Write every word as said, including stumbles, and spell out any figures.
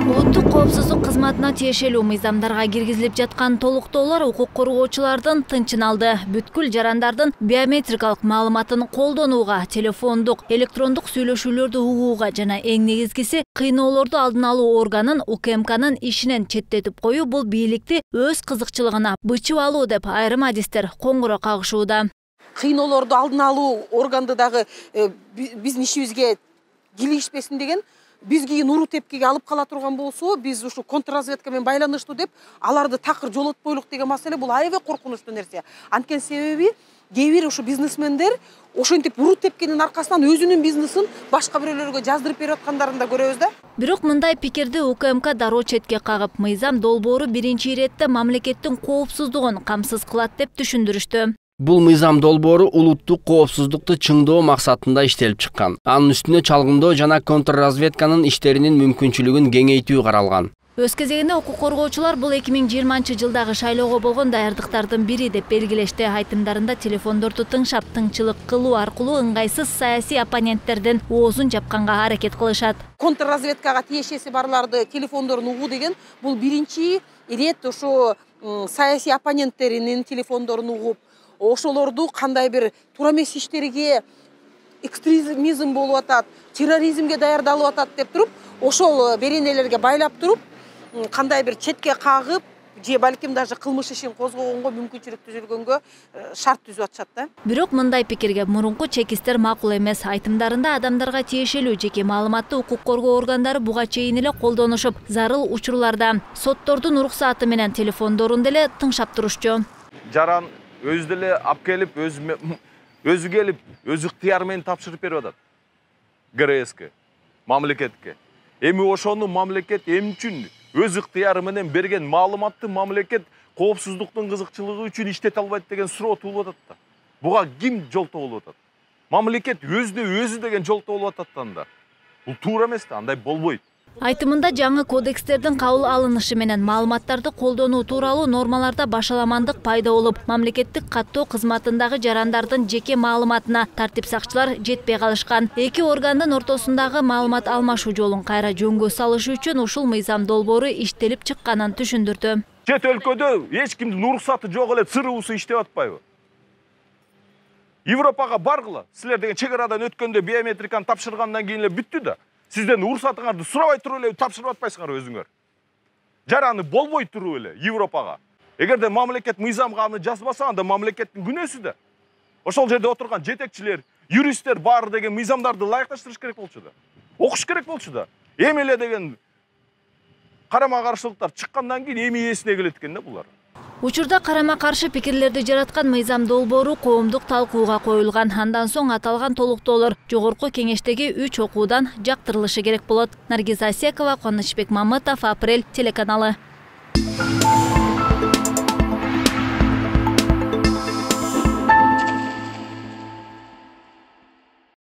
Улуттук коопсуздук кызматына тиешелүү мыйзамдарга киргизилип жаткан толуктоолор укук коргоочулардын тынчын алды. Бүткүл жарандардын биометрикалык маалыматын колдонууга, телефондук, электрондук сүйлөшүүлөрдү угууга жана эң негизгиси кыйноолорду алдын алуу органын У К М Кнын ишинен четтетип коюу бул бийликти өз кызыкчылыгына бычып алуу деп айрым адистер коңгуро кагышууда. Кыйноолорду алдын алуу органды дагы биздин ишибизге кийлигишпесин деген, биз кийин уру тепкиге алып кала турган болсо, биз ушу контрразведка менен байланыштуу деп аларды такыр жолотпойлук деген маселе бул аябай коркунучтуу нерсе. Анткени себеби кээ бир ушу бизнесмендер ошентип уру тепкенин аркасынан өзүнүн бизнесин башка бирөөлөргө жаздырып берип аткандарын да көрөбүз да. Бирок мындай пикирди У К М К дароо четке кагып, мыйзам долбоору биринчи иретте мамлекеттин коопсуздугун камсыз кылат деп түшүндүрүштү. Бул мыйзам долбоору улуттук коопсуздукту чыңдоо максатында иштелип чыккан. Анын үстүнө чалгындоо жана контрразведканын иштеринин мүмкүнчүлүгүн кеңейтүү каралган. Өз кезегинде укук коргоочулар бул эки миң жыйырманчы жылдагы шайлоого болгон даярдыктардын бири деп белгилешти. Айтымдарында телефондорду тыңшап, тыңчылык кылуу аркылуу ыңгайсыз саясий оппоненттердин оозун жапканга аракет кылышат. Контрразведкага тиешеси барларды телефондорун угуу деген бул биринчи ирет ошо саясий оппоненттеринин телефондорун угуп, ошолорду кандай бир туура эмес иштерге, экстремизм болуп атат, терроризмге даярдалып атат деп туруп, ошол беренелерге байлап туруп, кандай бир четке кагып, же балким даже кылмыш ишин козгогонго мүмкүнчүлүк түзүлгөнгө шарт түзүп атышат да. Бирок мындай пикирге мурунку чекистер макул эмес. Айтымдарында адамдарга тиешелүү жеке маалыматты укук коргоо органдары буга чейин эле колдонушуп, зарыл учурларда соттордун уруксааты менен телефондорун деле тыңшап турушчу. Жаран өзү деле алып келип, өзү келип, өз ыктыяры менен тапшырып берип атат. Г Р Ске, мамлекетке. Эми ошону мамлекет эмне үчүн өз ыктыяры менен берген маалыматты мамлекет коопсуздуктун кызыкчылыгы үчүн иштете албайт деген суроо туулуп атат да. Буга ким жолтоо болуп атат? Мамлекет өзүнө өзү деген жолтоо болуп атат анда. Бул туура эмес да, андай болбойт. Айтымында жаңы кодекстердин кабыл алынышы менен маалыматтарды колдонуу тууралуу нормаларда башаламандык пайда болуп, мамлекеттик каттоо кызматындагы жарандардын жеке маалыматына тартип сакчылар жетпей калышкан. Эки органдын ортосундагы маалымат алмашуу жолун кайра жөнгө салыш үчүн ушул мыйзам долбоору иштелип чыкканын түшүндүрдү. Чет өлкөдө эч кимдин уруксаты жок эле ЦРУсу иштеп атпайбы? Европага баргыла, силер деген чек арадан өткөндө биометриканы тапшыргандан кийин эле бүттү да. Сизден уруксатыңарды сурабай туруп эле тапшырып атпайсыңар өзүңөр. Жараны болбой туруп эле Европага. Эгерде мамлекет мыйзамга аны жазбаса, анда мамлекеттин күнөөсү да. Ошол жерде отурган жетекчилер, юристтер баары деген мыйзамдарды ылайыкташтырыш керек болчу да. Окуш керек болчу да. Эми эле деген карама каршылыктар чыккандан кийин эми эсине келет экен да булар. Учурда карама-каршы пикирлерди жараткан мыйзам долбоору коомдук талкууга коюлган. Андан соң аталган толуктоолор жогорку кеңештеги үч окуудан жактырылышы керек болот. Наргиза Асекова, Кубанычбек Мамытов, Апрель телеканалы.